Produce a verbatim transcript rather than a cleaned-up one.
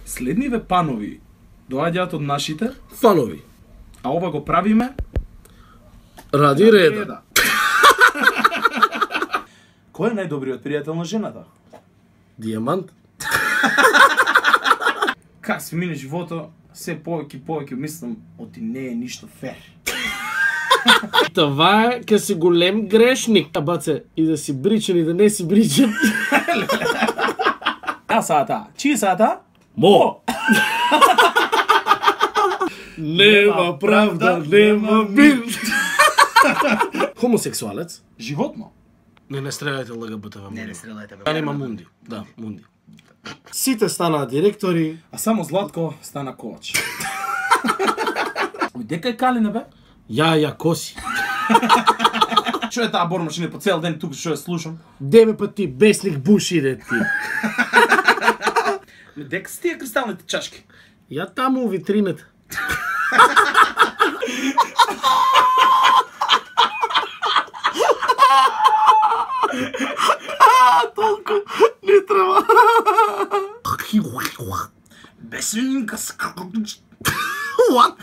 Следниве панови доаѓаат од нашите, Фанови. а ова го правиме Ради реда. Кој е најдобриот пријател на жената? Дијамант. Как се мине живото, се повеќе и повеќе мислам, оти не е ништо фер. Това е ке си голем грешник. А баце, и да си бричен и да не си бричен. А сата, чии сата? Мо! Нема правда, нема мир. Хомосексуалец? Животно. Не, не стрелајте ЛГБТ. Не, не стрелајте. А нема Мунди. Да, Мунди. Сите станаа директори. А само Златко стана ковач. Дека е Калина, бе? Ја, ја, коси. Што е таа бормашина по цел ден тук што ја слушам? Деме па ти, бесник буш иде ти. Дека си тие кристалните чашки? Ја таму у витрината. Толку не треба. Бесинка. What?